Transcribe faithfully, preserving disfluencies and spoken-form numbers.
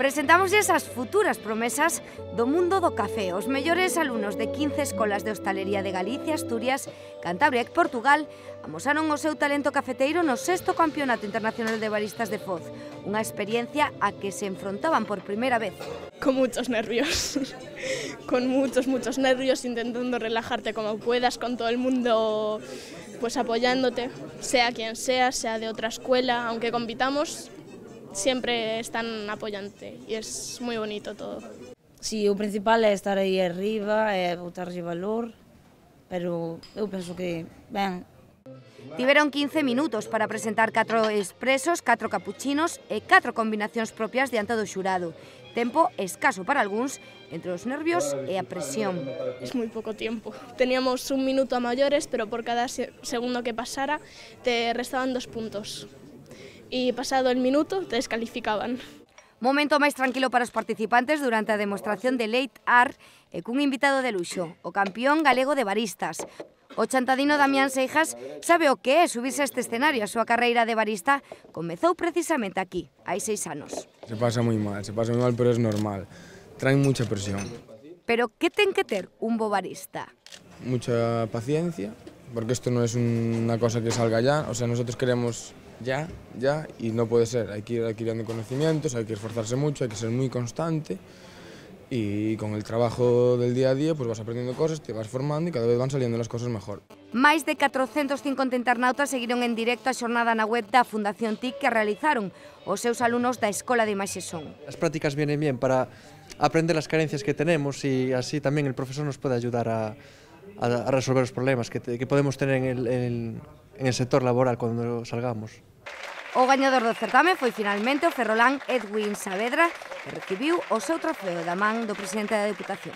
Presentamos esas futuras promesas do mundo do café. Os mellores alumnos de quince escolas de hostalería de Galicia, Asturias, Cantabria e Portugal amosaron o seu talento cafeteiro no sexto Campeonato Internacional de Baristas de Foz, unha experiencia a que se enfrontaban por primeira vez. Con muchos nervios, con muchos, muchos nervios, intentando relajarte como puedas, con todo el mundo pues apoyándote, sea quien sea, sea de otra escuela, aunque compitamos, siempre están apoyándote y es muy bonito todo. Sí, o principal é estar aí arriba, é botarlle valor, pero eu penso que, ben... Tiveron quince minutos para presentar catro expresos, catro capuchinos e catro combinacións propias diante do xurado. Tempo escaso para algúns, entre os nervios e a presión. Es muy poco tiempo. Teníamos un minuto a mayores, pero por cada segundo que pasara te restaban dos puntos. Y pasado el minuto te descalificaban. Momento máis tranquilo para os participantes durante a demostración de Late Art e cun invitado de luxo, o campeón galego de baristas. O chantadino Damián Seijas sabe o que é subirse a este escenario. A súa carreira de barista comezou precisamente aquí, hai seis anos. Se pasa moi mal, se pasa moi mal, pero é normal. Traen mucha presión. Pero que ten que ter un bo barista? Mucha paciencia, porque esto no es una cosa que salga ya. O sea, nosotros queremos ya, ya, y no puede ser. Hay que ir adquiriendo conocimientos, hay que esforzarse mucho, hay que ser muy constante. Y con el trabajo del día a día pues vas aprendiendo cosas, te vas formando y cada vez van saliendo las cosas mejor. Máis de catrocentos cincuenta internautas seguiron en directo a xornada na web da Fundación T I C que realizaron os seus alumnos da Escola de Imaxe Son. Las prácticas vienen bien para aprender las carencias que tenemos y así también el profesor nos puede ayudar a, a, a resolver los problemas que, te, que podemos tener en el, en, el, en el sector laboral cuando salgamos. O gañador do certame foi finalmente o ferrolán Edwin Saavedra, que recibiu o seu trofeo da man do presidente da Deputación.